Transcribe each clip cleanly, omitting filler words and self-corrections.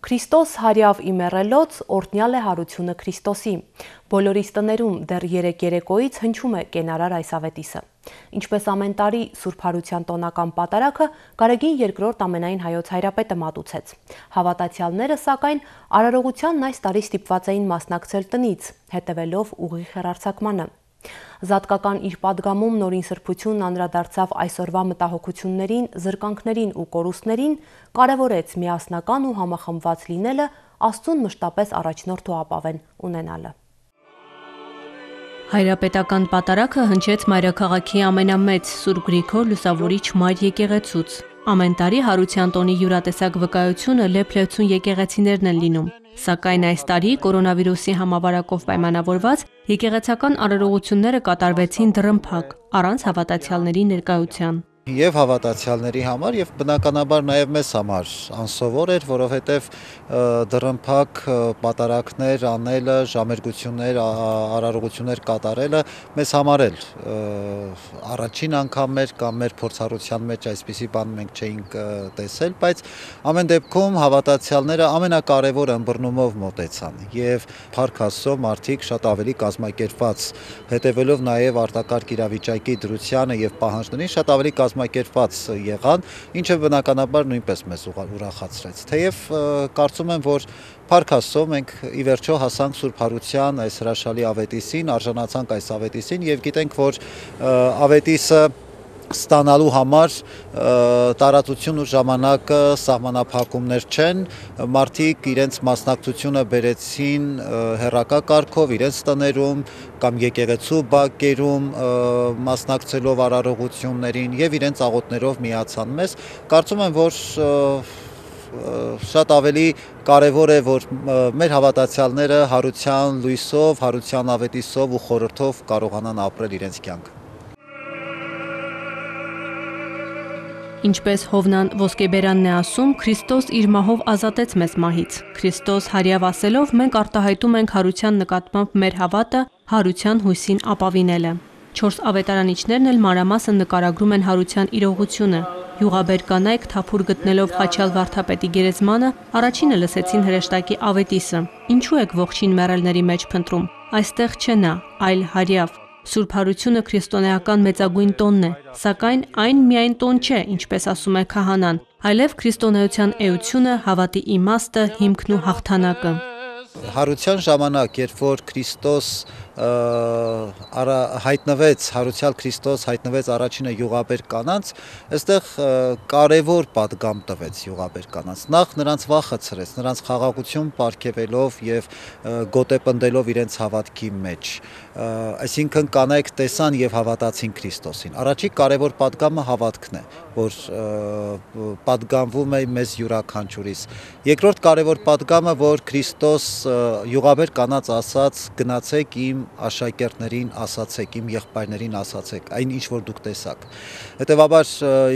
Քրիստոս հարյավ իմեռելոց օրհնյալ է հարությունը Քրիստոսի։ Բոլորիս տներում դեռ երեկ երեկոյից հնչում է կենարար այս ավետիսը։ Ինչպես ամեն տարի Սուրբ Հարության տոնական պատարագը Գարեգին II ամենայն հայոց հայրապետը մատուցեց։ Հավատացյալները, սակայն, արարողությանն այս տարի ստիպված էին մասնակցել տնից, հետևելով ուղիղ հեռարձակմանը։ Զատկական իր պատգամում Նորին Սրբությունն անդրադարձավ այսօրվա մտահոգություններին, զրկանքներին ու կորուստներին, կարևորեց միասնական ու համախմբված լինելը, Աստծուն մշտապես առաջնորդ ու ապավեն ունենալը։ Հայրապետական պատարագը հնչեց մայրաքաղաքի ամենամեծ Սուրբ Գրիգոր Լուսավորիչ մայր եկեղեցուց։ Ամեն տարի Հարության տոնի յուրատեսակ վկայությունը լեփ-լեցուն եկեղեցիներն են լինում։ Սակայն այս տարի կորոնավիրուսի համավարակով պայմանավորված եկեղեցական արարողությունները կատարվեցին դռնփակ, առանց հավատացյալների ներկայության։ Եվ հավատացյալների համար, եւ բնականաբար նաեւ մեզ համար անսովոր էր, որովհետեւ դռնփակ պատարակներ անելը, ժամերգություններ, արարողություններ կատարելը մեզ համար էլ առաջին անգամ էր կամ մեր փորձառության մեջ այսպիսի բան մենք չէինք տեսել, բայց ամեն դեպքում հավատացյալները ամենակարևոր ըմբռնումով մոտեցան եւ փառք Աստծո մարդիկ շատ ավելի կազմակերպված, հետեւելով նաեւ արտակարգ իրավիճակի դրությանը եւ պահանջներին շատ ավելի կազմակերպված եղան, ինչը բնականաբար նույնպես մեզ ուրախացրեց։ Թեև կարծում եմ, որ փառք Աստծո մենք ի վերջո հասանք Սուրբ Հարության այս հրաշալի ավետիսին, արժանացանք այս ավետիսին եւ գիտենք, որ ավետիսը ստանալու համար տարածություն ու ժամանակը սահմանափակումներ չեն, մարդիկ իրենց մասնակցությունը բերեցին հեռակա կարգով, իրենց տներում կամ եկեղեցու բակերում մասնակցելով արարողություններին եւ իրենց աղոթներով միացան մեզ։ Կարծում եմ, որ շատ ավելի կարևոր է, որ մեր հավատացյալները հարության լույսով, հարության ավետիսով ու խորհրդով կարողանան ապրել իրենց կյանքը։ Ինչպես Հովնան ոսկեբերանն է ասում, Քրիստոս իր մահով ազատեց մեզ մահից։ Քրիստոս հարյավ ասելով մենք արտահայտում ենք հարության նկատմամբ մեր հավատը, հարության հույսին ապավինելը։ 4 ավետարանիչներն էլ մանրամասն նկարագրում են հարության իրողությունը։ Յուղաբեր կանայք թափուր գտնելով Խաչյալ վարդապետի գերեզմանը, առաջինը լսեցին հրեշտակի ավետիսը։ Ինչու եք ողջին մեռելների մեջ փնտրում։ Այստեղ չէ նա, այլ հարյավ։ Սուրբ Հարությունը քրիստոնեական մեծագույն տոնն է, սակայն այն միայն տոն չէ, ինչպես ասում է քահանան, այլև քրիստոնեության էությունը, հավատի իմաստը, հիմքն ու հաղթանակը։ Հարության ժամանակ, երբ որ Քրիստոս հայտնվեց, հարուցյալ Քրիստոս հայտնվեց առաջինը յուղաբեր կանանց, այստեղ կարևոր պատգամ տվեց յուղաբեր կանանց։ Նախ նրանց վախը ցրեց, նրանց խաղաղություն պարգևելով եւ գոտեպնդելով իրենց հավատքի մեջ։ Այսինքն կանայք տեսան եւ հավատացին Քրիստոսին։ Առաջի կարևոր պատգամը հավատքն է, որ պատգամվում է մեզ յուրաքանչյուրիս։ Երկրորդ կարևոր պատգամը, որ Քրիստոս յուղաբեր կանանց ասաց, գնացեք իմ աշակերտներին ասացեք, իմ եղբայրներին ասացեք, այն ինչ որ դուք տեսաք։ Հետևաբար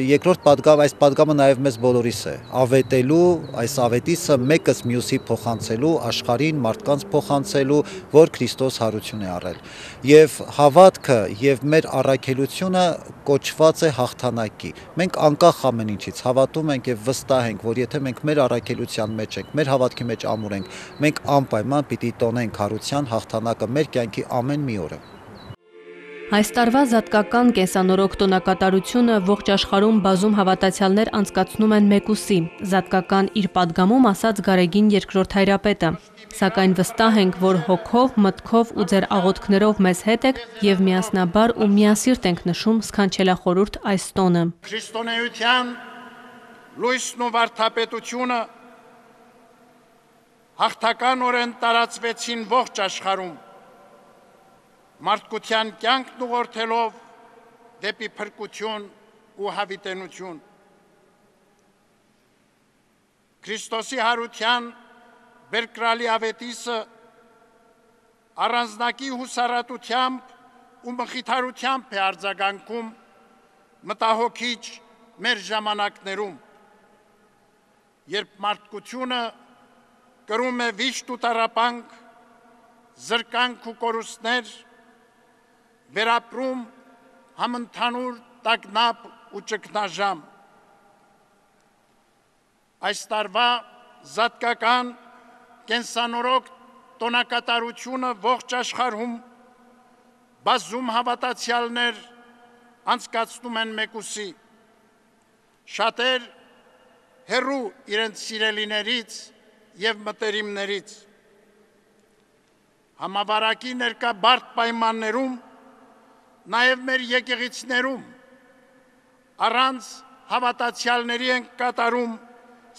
երկրորդ պատգամ, այս պատգամը նաև մեզ բոլորիս է, ավետելու, այս ավետիսը մեկս մյուսի փոխանցելու, աշխարհին, մարդկանց փոխանցելու, որ Քրիստոս հարություն է առել։ Եվ հավատքը եւ մեր առաքելությունը կոչված է հաղթանակի։ Մենք անկախ ամեն ինչից հավատում ենք եւ վստահ ենք, որ եթե մենք մեր առաքելության մեջ ենք, մեր հավատքի մեջ ամուր ենք, մենք անպայման պիտի տոնենք հարության հաղթանակը մեր կյանքի ամեն մի օրը։ Այս տարվա զատկական կենսանորոգ տոնակատարությունը ողջ աշխարհում բազում հավատացյալներ անցկացնում են մեկուսի, զատկական իր պատգամում ասաց Գարեգին II հայրապետը, սակայն վստահ ենք, որ հոգով, մտքով ու ձեր աղոթքներով մեզ հետ եք եւ միասնաբար ու միասիրտ ենք նշում սքանչելախորհուրդ այս տոնը։ Քրիստոնեության լույսն ու վարդապետությունը հաղթականորեն տարածվեցին ողջ աշխարհում, մարդկության կյանքն ուղղորդելով դեպի փրկություն ու հավիտենություն։ Քրիստոսի հարության բերկրալի ավետիսը առանձնակի հուսառատությամբ ու մխիթարությամբ է արձագանքում մտահոգիչ մեր ժամանակներում, երբ մարդկությունը կրում է վիշտ ու տառապանք, զրկանք ու կորուստներ, վերապրում համընդհանուր տագնապ ու ճգնաժամ։ Այս տարվա զատկական կենսանորոգ տոնակատարությունը ողջ աշխարհում բազում հավատացյալներ անցկացնում են մեկուսի, շատեր հեռու իրենց սիրելիներից և մտերիմներից։ Համավարակի ներկա բարդ պայմաններում, նաև մեր եկեղեցիներում, առանց հավատացյալների են կատարում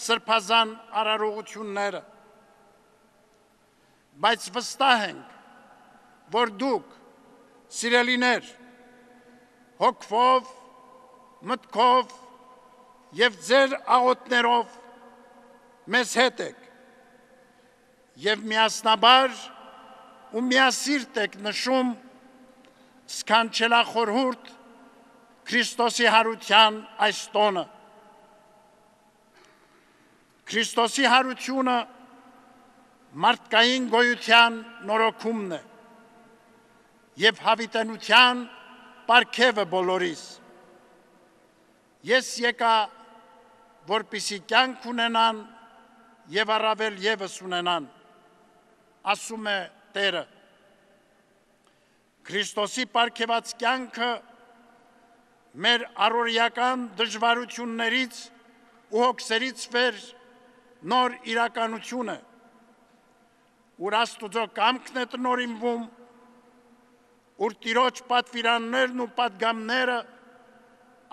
սրբազան արարողությունները։ Բայց վստահ ենք, որ դուք, սիրելիներ, հոգվով, մտքով և ձեր աղոթներով մեզ հետ եք և միասնաբար ու միասիրտ եք նշում սքանչելախորհուրդ Քրիստոսի հարության այս տոնը։ Քրիստոսի հարությունը մարդկային գոյության նորոգումն է և հավիտենության պարգևը բոլորիս։ Ես եկա, որպեսզի կյանք ունենան և առավել ևս ունենան, ասում է Տերը։ Քրիստոսի պարգևած կյանքը մեր առօրեական դժվարություններից ու հոգսերից վեր նոր իրականություն է, ուր Աստուծո կամքն է տնօրինվում, ուր Տիրոջ պատվիրաններն ու պատգամները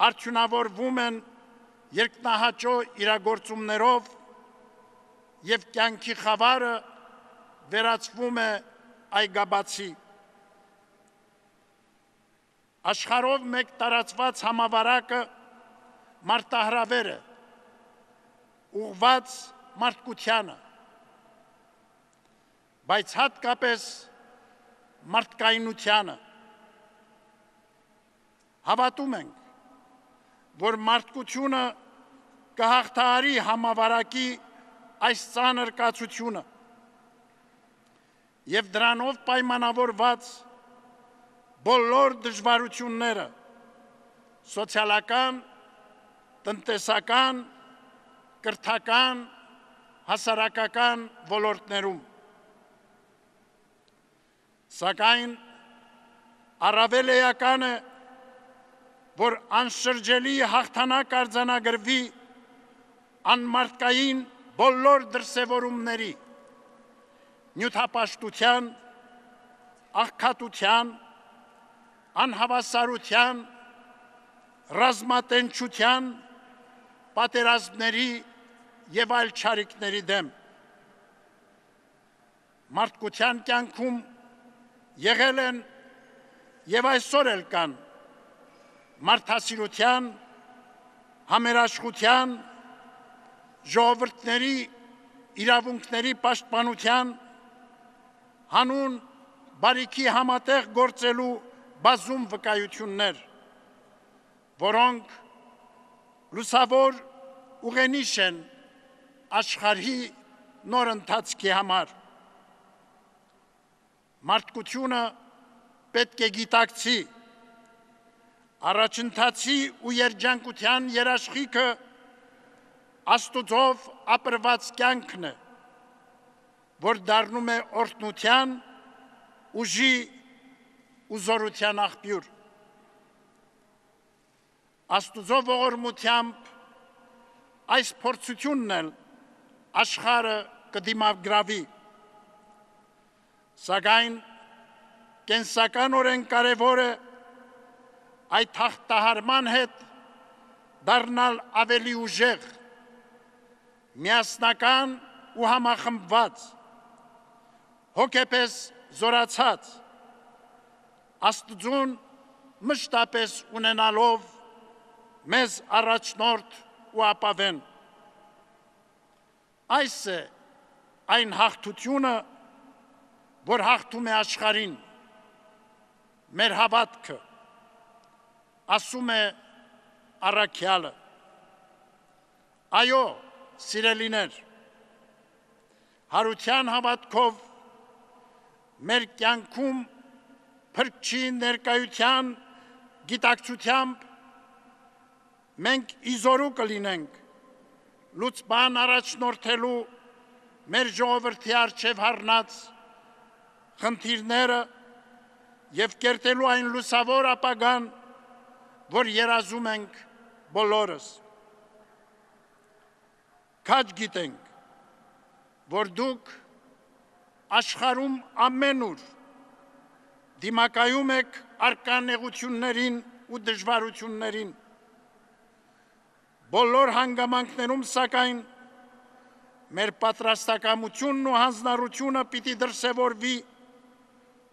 արդյունավորվում են երկնահաճո իրագործումներով և կյանքի խավարը վերածվում է այգաբացի։ Աշխարհով մեկ տարածված համավարակը մարտահրավեր է, ուղղված մարդկությանը, բայց հատկապես մարդկայնությանը։ Հավատում ենք, որ մարդկությունը կհաղթահարի համավարակի այս ծանր կացությունը և դրանով պայմանավորված բոլոր դժվարությունները սոցիալական, տնտեսական, կրթական, հասարակական ոլորտներում։ Սակայն առավել էական է, որ անշրջելի հաղթանակ արձանագրվի անմարդկային բոլոր դրսևորումների՝ նյութապաշտության, աղքատության, անհավասարության, ռազմատենչության, պատերազմների և այլ չարիքների դեմ։ Մարդկության կյանքում եղել են և այսօր էլ կան մարդասիրության, համերաշխության, ժողովուրդների իրավունքների պաշտպանության, հանուն բարիքի համատեղ գործելու բազում վկայություններ, որոնք լուսավոր ուղենիշ են աշխարհի նոր ընթացքի համար։ Մարդկությունը պետք է գիտակցի առաջընթացի ու երջանկության երաշխիքը Աստուծով ապրված կյանքն է, որ դառնում է օրհնության, ուժի ու զորության աղբյուր։ Աստուծո ողորմությամբ այս փորձությունն էլ աշխարհը կդիմագրավի, սակայն կենսականորեն կարևոր է այդ հաղթահարման հետ դառնալ ավելի ուժեղ, միասնական ու համախմբված, հոգեպես զորացած, Աստծուն մշտապես ունենալով մեզ առաջնորդ ու ապավեն։ Այս է այն հաղթությունը, որ հաղթում է աշխարհին, մեր հավատքը, ասում է առաքյալը։ Այո, սիրելիներ, հարության հավատքով մեր կյանքում փրկչի ներկայության գիտակցությամբ մենք իզորու կլինենք լուծման առաջնորդելու մեր ժողովրդի առջև հառնած խնդիրները եւ կերտելու այն լուսավոր ապագան, որ երազում ենք բոլորս։ Քաջ գիտենք, որ դուք աշխարհում ամենուր դիմակայում եք առկա նեղություններին ու դժվարություններին։ Բոլոր հանգամանքներում, սակայն, մեր պատրաստակամությունն ու հանձնառությունը պիտի դրսևորվի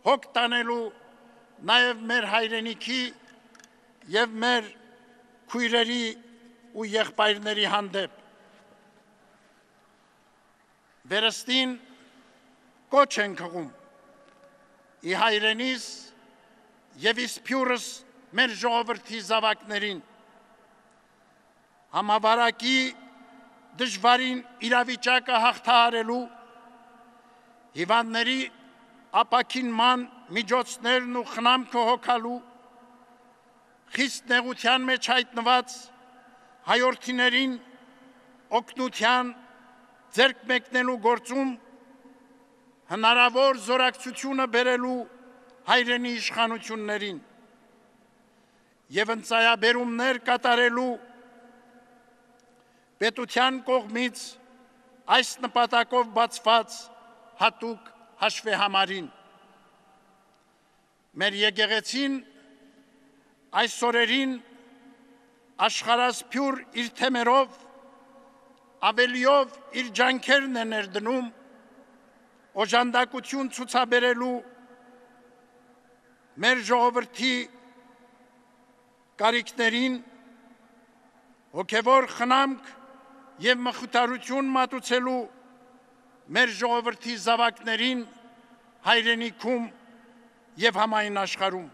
հոգ տանելու նաև մեր հայրենիքի եւ մեր քույրերի ու եղբայրների հանդեպ։ Վերստին կոչ ենք հղում ի հայրենիս եւ իսփյուրս մեր ժողովրդի զավակներին համավարակի դժվարին իրավիճակը հաղթահարելու, հիվանդների ապաքինման միջոցներն ու խնամքը հոգալու, խիստ նեղության մեջ հայտնված հայորդիներին օգնության ձեռք մեկնելու գործում հնարավոր զորակցությունը բերելու հայրենի իշխանություններին եւ ընծայաբերումներ կատարելու պետության կողմից այս նպատակով բացված հատուկ հաշվեհամարին։ Մեր եկեղեցին այս օրերին աշխարհասփյուր իր թեմերով ավելիով իր ջանքերն է ներդնում օժանդակություն ցուցաբերելու մեր ժողովրդի կարիքներին, հոգևոր խնամք եւ մխիթարություն մատուցելու մեր ժողովրդի զավակներին հայրենիքում եւ համայն աշխարհում։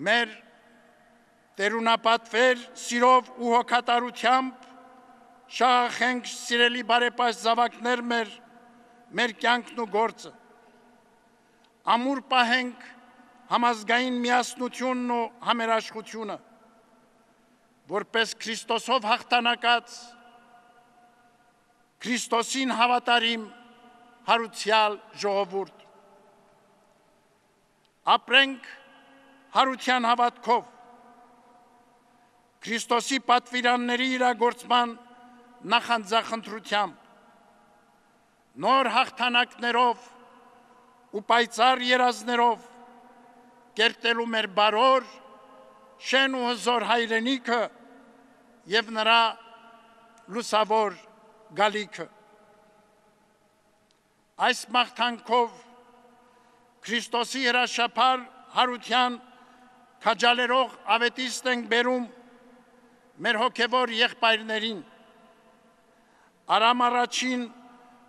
Մեր տերունապատվեր սիրով ու հոգատարությամբ շահախենք սիրելի բարեպաշտ զավակներ մեր կյանքն ու գործը։ Ամուր պահենք համազգային միասնությունն ու համերաշխությունը, որպես Քրիստոսով հաղթանակած, Քրիստոսին հավատարիմ հարուցյալ ժողովուրդ։ Ապրենք հարության հավատքով, Քրիստոսի պատվիրանների իրագործման նախանձախնդրությամբ, նոր հաղթանակներով ու պայծառ երազներով կերտելու մեր բարոր, շեն ու հզոր հայրենիքը եւ նրա լուսավոր գալիքը։ Այս մաղթանքով Քրիստոսի հրաշափար հարության քաջալերող ավետիստ ենք բերում մեր հոգևոր եղբայրներին, Արամ առաջին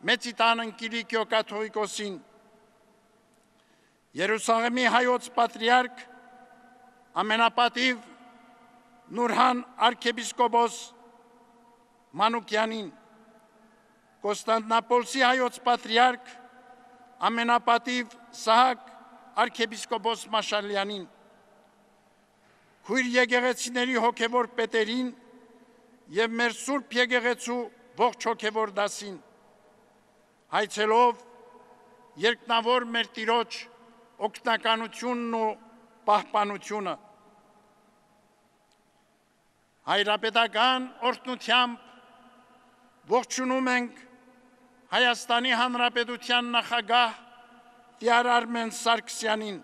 Մեծիտան Կիլիկիո կաթողիկոսին, Երուսաղեմի հայոց պատրիարք ամենապատիվ Նուրհան arczepiskopos Մանուկյանին, Կոստանդնապոլսի հայոց պատրիարք ամենապատիվ Սահակ arczepiskopos Մաշալյանին, քույր եկեղեցիների հոգևոր պետերին եւ մեր Սուրբ եկեղեցու ողջ հոգևոր դասին, հայցելով երկնավոր մեր Տիրոջ օգնականությունն ու պահպանությունը։ Հայրապետական օրհնությամբ ողջունում ենք Հայաստանի Հանրապետության նախագահ Տիար Արմեն Սարգսյանին,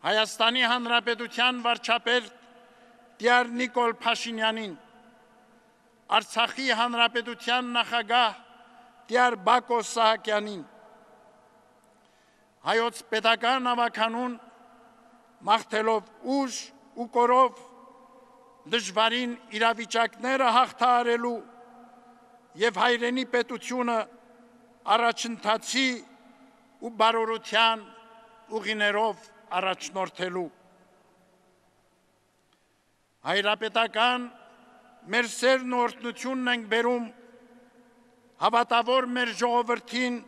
Հայաստանի Հանրապետության վարչապետ Տիար Նիկոլ Փաշինյանին, Արցախի Հանրապետության նախագահ Տիար Բակո Սահակյանին, հայոց պետական ավականուն մաղթելով ուժ ու կորով դժվարին իրավիճակները հաղթահարելու եւ հայրենի պետությունը առաջընթացի ու բարօրության ուղիներով առաջնորդելու։ Հայրապետական մեր սերն ու օրհնությունն ենք բերում հավատավոր մեր ժողովրդին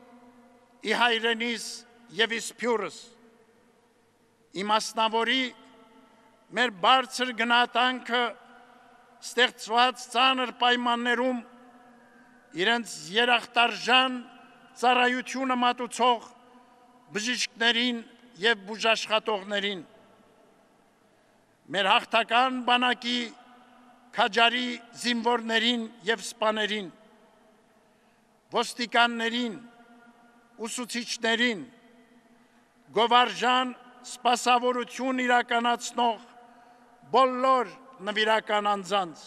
ի հայրենիս և ի սփյուռս, իմաստնավորի մեր բարձր գնահատանքը ստեղծված ծանր պայմաններում իրենց երախտարժան ծառայությունը մատուցող բժիշկներին և բուժաշխատողներին, մեր հաղթական բանակի քաջարի զինվորներին և սպաներին, ոստիկաններին, ուսուցիչներին, գովարժան սպասավորություն իրականացնող բոլոր նվիրական անձանց։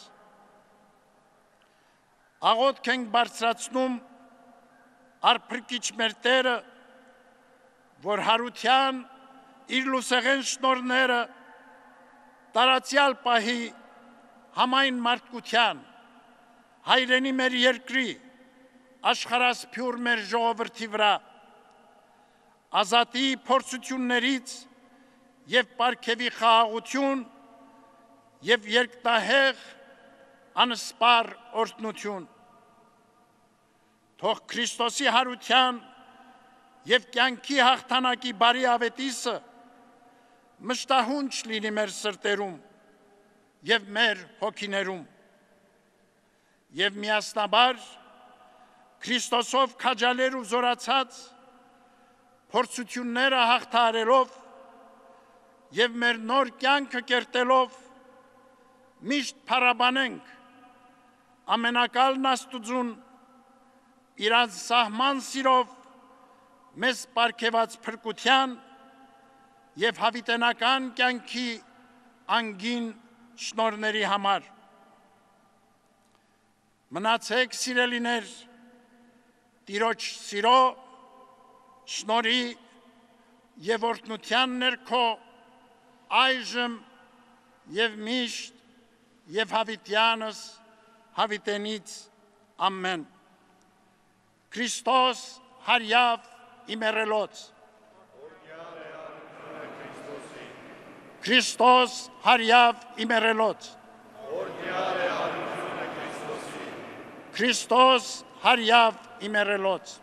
Աղոթք ենք բարձրացնում արփրկիչ մեր Տերը, որ հարության իր լուսեղեն շնորհները տարածյալ պահի համայն մարդկության, հայրենի մեր երկրի, աշխարհասփյուռ մեր ժողովրդի վրա, ազատի փորձություններից և պարգևի խաղաղություն և երկնահեղ անսպառ օրհնություն։ Թող Քրիստոսի հարության և կյանքի հաղթանակի բարի ավետիսը մշտահունչ լինի մեր սրտերում և մեր հոգիներում, և միասնաբար Քրիստոսով քաջալեր ու զորացած փորձությունները հաղթահարելով և մեր նոր կյանքը կերտելով միշտ փառաբանենք ամենակալն Աստուծուն իր անսահման սիրով մեզ պարգևած փրկության և հավիտենական կյանքի անգին շնորհների համար։ Մնացեք սիրելիներ Տիրոջ սիրո, շնորհի և օրհնության ներքո այժմ և միշտ և հավիտյանս հավիտենից ամեն։ Քրիստոս հարյավ իմերելոց։ Քրիստոս հարյավ իմերելոց։ Քրիստոս հարյավ իմերելոց։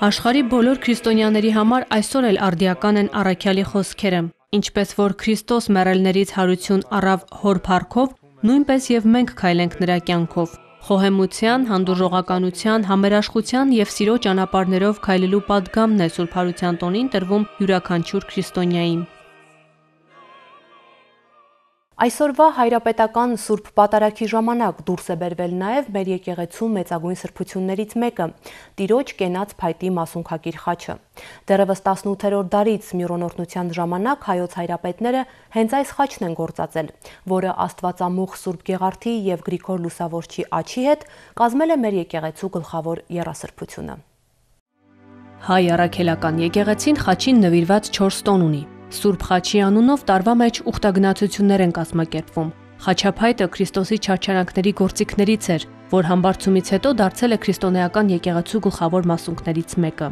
Աշխարհի բոլոր քրիստոնյաների համար այսօր էլ արդիական են առաքյալի խոսքերը։ Ինչպես որ Քրիստոս մեռելներից հարություն առավ հոր փառքով, նույնպես և մենք քայլենք նրա կյանքով։ Խոհեմության, հանդուրժողականության, համերաշխության և սիրո ճանապարհներով քայլելու պատգամն է Սուրբ Հարության տոնին տրվում յուրաքանչյուր քրիստոնյային։ Այսօրվա հայրապետական Սուրբ Պատարագի ժամանակ դուրս է բերվել նաև մեր եկեղեցու մեծագույն սրբություններից մեկը՝ Տիրոջ կենաց փայտի մասունքակիր խաչը։ Դեռևս 18-րդ դարից միրոնորհնության ժամանակ հայոց հայրապետները հենց այս խաչն են գործածել, որը Աստվածամուխ Սուրբ Գեղարդի և Գրիգոր Լուսավորչի աջի հետ կազմել է մեր եկեղեցու գլխավոր եռասրբությունը։ Հայ առաքելական եկեղեցին խաչին նվիրված 4 տոն ունի։ Սուրբ խաչի անունով տարվա մեջ ուխտագնացություններ են կազմակերպվում։ Խաչափայտը Քրիստոսի չարչարանքների գործիքներից էր, որ համբարձումից հետո դարձել է քրիստոնեական եկեղեցու գլխավոր մասունքներից մեկը։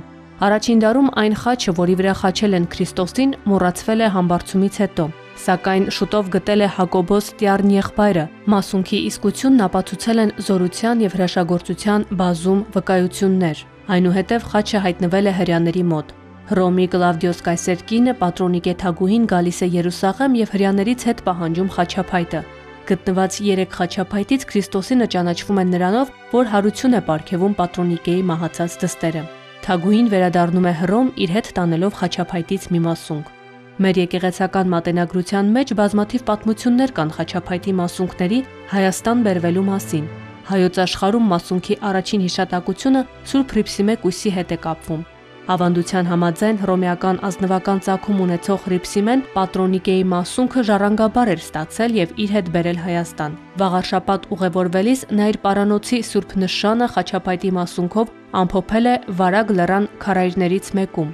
Առաջին դարում այն խաչը, որի վրա խաչել են Քրիստոսին, մոռացվել է համբարձումից հետո, սակայն շուտով գտել է Հակոբոս Տյառն եղբայրը։ Մասունքի իսկությունն ապացուցել են զորության և հրաշագործության բազում վկայություններ։ Այնուհետև խաչը հայտնվել է հրեաների մոտ։ Հռոմի Կլավդիոս կայսեր կինը Պատրոնիկե թագուհին գալիս է Երուսաղեմ և հրեաներից հետ պահանջում խաչափայտը։ Գտնված 3 խաչափայտից Քրիստոսինը ճանաչվում են նրանով, որ հարություն է պարգևում Պատրոնիկեի մահացած դստերը։ Թագուհին վերադառնում է Հռոմ իր հետ տանելով խաչափայտից մի մասունք։ Մեր եկեղեցական մատենագրության մեջ բազմաթիվ պատմություններ կան խաչափայտի մասունքների Հայաստան բերվելու մասին։ Հայոց աշխարհում մասունքի առաջին հիշատակությունը Սուրբ Հռիփսիմե կույսի հետ է կապվում։ Ավանդության համաձայն հռոմեական ազնվական ծագում ունեցող Հռիփսիմեն Պատրոնիկեի մասունքը ժառանգաբար էր ստացել եւ իր հետ բերել Հայաստան։ Վաղարշաբաթ ուղևորվելիս նա իր պարանոցի Սուրբ նշանը խաչափայտի մասունքով ամփոփել է Վարագ լեռան քարայրներից մեկում։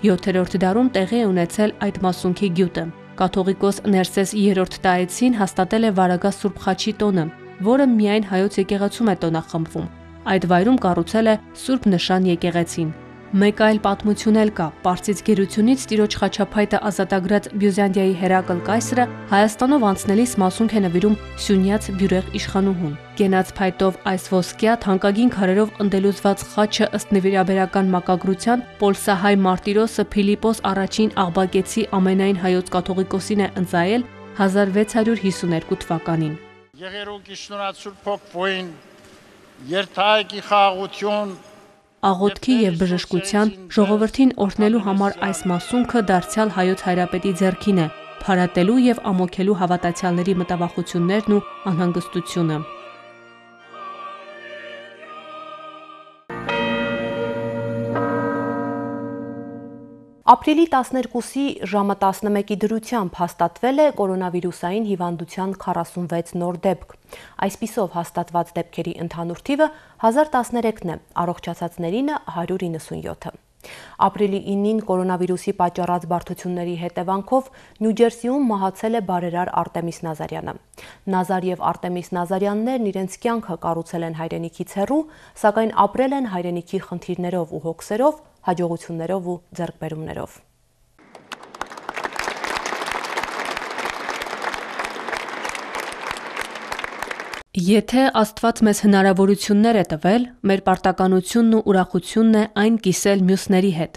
7-րդ դարում տեղի է ունեցել այդ մասունքի գյուտը։ Կաթողիկոս Ներսես III Տարեցին հաստատել է Վարագա Սուրբ խաչի տոնը, որը միայն հայոց եկեղեցում է տոնախմբվում։ Այդ վայրում կառուցել է Սուրբ Նշան եկեղեցին։ Մեկ այլ պատմություն էլ կա։ Պարսից գերությունից տիրոջ խաչափայտը ազատագրած Բյուզանդիայի Հերակլ կայսրը Հայաստանով անցնելիս մասունք է նվիրում Սյունյաց բյուրեղ իշխանուհուն։ Կենաց փայտով այս ոսկյա թանկագին քարերով ընդելուզված խաչը ըստ նվիրաբերական մակագրության պոլսահայ մարտիրոսը Փիլիպոս I Աղբակեցի ամենայն հայոց կաթողիկոսին է ընծայել 1652 թվականին։ Եղերուկի շնորհացուր փոքվույն երթայքի խաղաղություն Աղոթքի եւ բժշկության ժողովրդին օրհնելու համար այս մասունքը դարձյալ հայոց հայրապետի ձեռքին է, փարատելու եւ ամոքելու հավատացյալների մտավախություններն ու անհանգստությունը։ Ապրիլի 12-ի ժամը 11-ի դրությամբ հաստատվել է կորոնավիրուսային հիվանդության 46 նոր դեպք։ Այսպիսով հաստատված դեպքերի ընդհանուր թիվը 1013-ն է, առողջացածներինը 197-ը։ Ապրիլի 9-ին կորոնավիրուսի պատճառած բարդությունների հետևանքով Նյու Ջերսիում մահացել է բարերար Արտեմիս Նազարյանը։ Նազար եւ Արտեմիս Նազարյաններն իրենց կյանքը կառուցել են հայրենիքից հեռու, սակայն ապրել են հայրենիքի խնդիրներով ու հոգսերով, հաջողություններով ու ձեռքբերումներով։ Եթե Աստված մեզ հնարավորություններ է տվել, մեր պարտականությունն ու ուրախությունն է այն կիսել մյուսների հետ։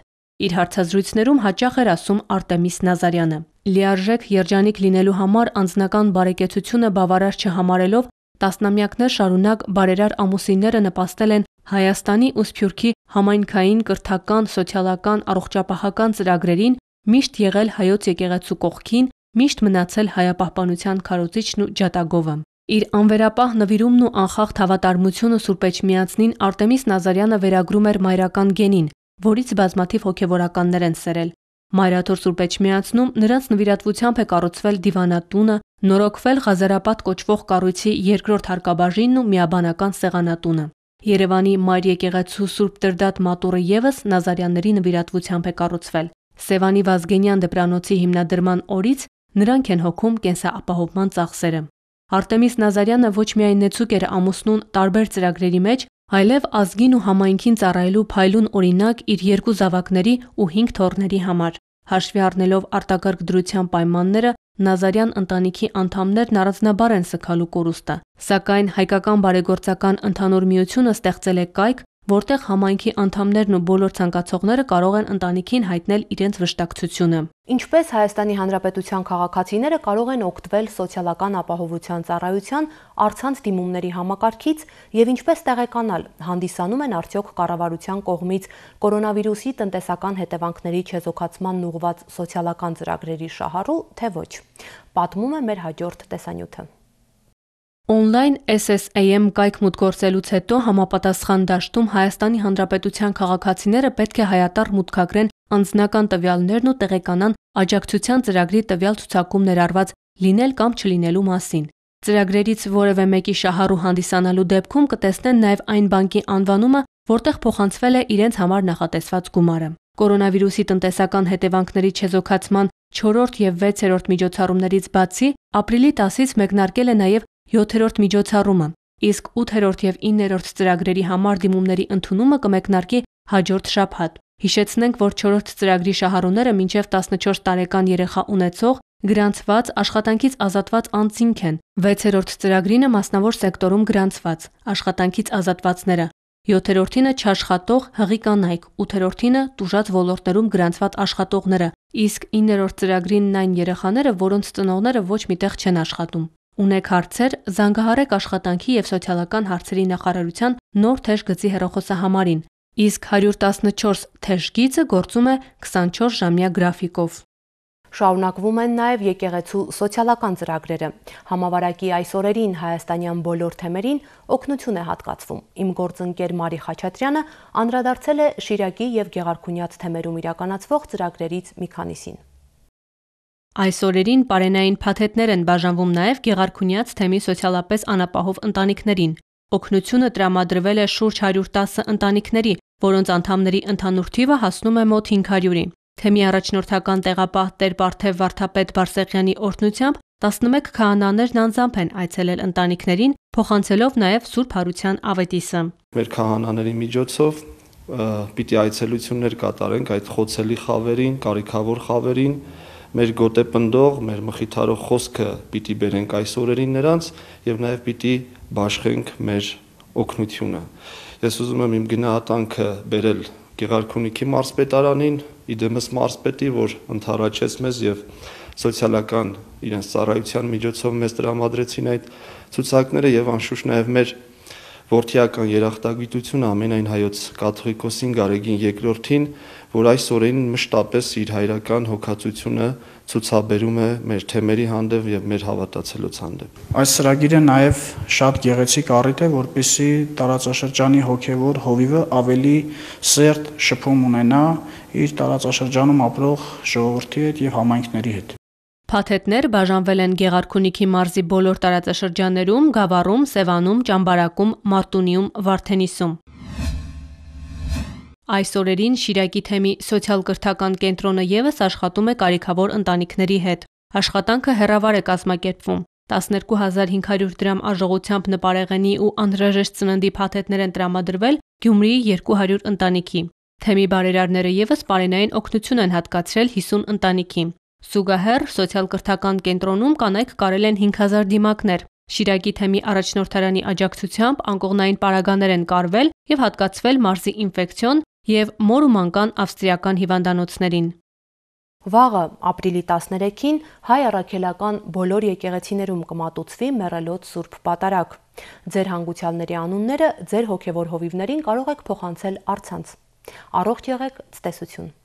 Իր հարցազրույցներում հաճախ էր ասում Արտեմիս Նազարյանը։ Լիարժեք երջանիկ լինելու համար անձնական բարեկեցությունը բավարար չհամարելով, տասնամյակներ շարունակ բարերար ամուսինները նպաստել են Հայաստանի ու Սփյուռքի համայնքային, կրթական, սոցիալական, առողջապահական ծրագրերին, միշտ եղել հայոց եկեղեցու կողքին, միշտ մնացել հայապահպանության քարոզիչն ու ջատագովը։ Իր անվերապահ նվիրումն ու անխախտ հավատարմությունը Սուրբ Էջմիածնին Արտեմիս Նազարյանը վերագրում էր մայրական գենին, որից բազմաթիվ հոգևորականներ են սերել։ Մայրաթոր Սուրբ Էջմիածնում նրանց նվիրատվությամբ է կառուցվել դիվանատունը, նորոգվել Ղազարապատ կոչվող կառույցի երկրորդ հարկաբաժինն ու միաբանական սեղանատունը։ Երևանի Մայր եկեղեցու Սուրբ Տրդատ մատուռը ևս Նազարյանների նվիրատվությամբ է կառուցվել։ Սևանի Վազգենյան դպրանոցի հիմնադրման օրից նրանք են հոգում կենսապահովման ծախսերը։ Արտեմիս Նազարյանը ոչ միայն նեցուկ էր ամուսնուն տարբեր ծրագրերի մեջ, այլև ազգին ու համայնքին ծառայելու փայլուն օրինակ իր 2 զավակների ու 5 թոռների համար։ Հաշվի առնելով արտակարգ դրության պայմանները, Նազարյան ընտանիքի անդամներն առանձնաբար են սգալու կորուստը, սակայն հայկական բարեգործական ընդհանուր միությունը ստեղծել է կայք, որտեղ համայնքի անդամներն ու բոլոր ցանկացողները կարող են ընտանիքին հայտնել իրենց վշտակցությունը։ Ինչպես Հայաստանի Հանրապետության քաղաքացիները կարող են օգտվել սոցիալական ապահովության ծառայության առցանց դիմումների համակարգից եւ ինչպես տեղեկանալ, հանդիսանում են արդյոք կառավարության կողմից կորոնավիրուսի տնտեսական հետևանքների չեզոքացման ուղղված սոցիալական ծրագրերի շահառու, թե ոչ։ Պատմում է մեր հաջորդ տեսանյութը։ Օնլայն SSAM կայք մուտք գործելուց հետո համապատասխան դաշտում Հայաստանի Հանրապետության քաղաքացիները պետք է հայատառ մուտքագրեն անձնական տվյալներն ու տեղեկանան աջակցության ծրագրի տվյալ ցուցակում ներառված լինել կամ չլինելու մասին։ Ծրագրերից որևէ մեկի շահառու հանդիսանալու դեպքում կտեսնեն նաև այն բանկի անվանումը, որտեղ փոխանցվել է իրենց համար նախատեսված գումարը։ Կորոնավիրուսի տնտեսական հետևանքների չեզոքացման 4-րդ եւ 6-րդ միջոցառումներից բացի ապրիլի 10-ից մեկնարկել է նաև 7-րդ միջոցառումը, իսկ 8-րդ եւ 9-րդ ծրագրերի համար դիմումների ընդունումը կմեկնարկի հաջորդ շաբաթ։ Հիշեցնենք, որ 4-րդ ծրագրի շահառուները մինչև 14 տարեկան երեխա ունեցող, գրանցված, աշխատանքից ազատված անձինք են, 6-րդ ծրագրինը մասնավոր սեկտորում գրանցված, աշխատանքից ազատվածները, 7-րդինը չաշխատող հղի կանայք, 8-րդինը տուժած ոլորտներում գրանցված աշխատողները, իսկ 9-րդ ծրագրինն այն երեխաները, որոնց ծնողները ոչ միտեղ չեն աշխատում։ Ունեք հարցեր, զանգահարեք աշխատանքի եւ սոցիալական հարցերի նախարարության նոր թեժ գծի հեռախոսահամարին, իսկ 114 թեժ գիծը գործում է 24-ժամյա գրաֆիկով։ Շարունակվում են նաև եկեղեցու սոցիալական ծրագրերը։ Համավարակի այս օրերին հայաստանյան բոլոր թեմերին օգնություն է հատկացվում։ Իմ գործընկեր Մարի Խաչատրյանը անդրադարձել է Շիրակի եւ Գեղարքունյաց թեմերում իրականացվող ծրագրերից մի քանիսին։ Այս օրերին պարենային փաթեթներ են բաժանվում նաև Գեղարքունյաց թեմի սոցիալապես անապահով ընտանիքներին։ Օգնությունը տրամադրվել է շուրջ 110 ընտանիքների, որոնց անդամների ընդհանուր թիվը հասնում է մոտ 500-ի։ Թեմի առաջնորդական տեղապահ Տեր-Պարթև Վարդապետ Բարսեղյանի օրհնությամբ 11 քահանաներն անձամբ են այցելել ընտանիքներին, փոխանցելով նաև Սուրբ Հարության ավետիսը։ Մեր քահանաների միջոցով պիտի այցելություններ կատարենք այդ խոցելի խավերին, կարիքավոր խավերին, մեր գոտեպնդող, մեր մխիթարող խոսքը պիտի բերենք այս օրերին նրանց եւ նաեւ պիտի բաշխենք մեր օգնությունը։ Ես ուզում եմ իմ գնահատանքը բերել Գեղարքունիքի մարզպետարանին, իդեմս մարզպետի, որ ընդառաջեց մեզ եւ սոցիալական իրենց ծառայության միջոցով մեզ տրամադրեցին այդ ցուցակները եւ անշուշտ նաեւ մեր որդիական երախտագիտությունը ամենայն հայոց կաթողիկոսին Գարեգին II-ին, որ այս օրերին մշտապես իր հայրական հոգացությունը ցուցաբերում է մեր թեմերի հանդեպ եւ մեր հավատացելոց հանդեպ։ Այս ծրագիրը նաեւ շատ գեղեցիկ առիթ է, որպեսզի տարածաշրջանի հոգեվոր հովիվը ավելի սերտ շփում ունենա իր տարածաշրջանում ապրող ժողովրդի հետ եւ համայնքների հետ։ Փաթեթներ բաժանվել են Գեղարքունիքի մարզի բոլոր տարածաշրջաններում, Գավառում, Սևանում, Ճամբարակում, Մարտունիում, Վարդենիսում։ Այս օրերին Շիրակի թեմի սոցիալ-կրթական կենտրոնը եւս աշխատում է կարիքավոր ընտանիքների հետ։ Աշխատանքը հեռավար է կազմակերպվում։ 12500 դրամ արժողությամբ նպարեղենի ու անհրաժեշտ ծննդի փաթեթներ են տրամադրվել Գյումրիի 200 ընտանիքի։ Թեմի բարերարները եւս պարենային օգնություն են հատկացրել 50 ընտանիքի։ Զուգահեռ սոցիալ-կրթական կենտրոնում կանայք կարել են 5000 դիմակներ։ Շիրակի թեմի առաջնորդարանի աջակցությամբ անկողնային պարագաներ են կարվել եւ հատկացվել մարզի ինֆեկցիոն եւ մոր ու մանկան ավստրիական հիվանդանոցներին։ Վաղը ապրիլի 13-ին հայ առաքելական բոլոր եկեղեցիներում կմատուցվի մեռելոց Սուրբ Պատարագ։ Ձեր հանգուցյալների անունները ձեր հոգևոր հովիվներին կարող եք փոխանցել առցանց։ Առողջ եղեք, ցտեսություն։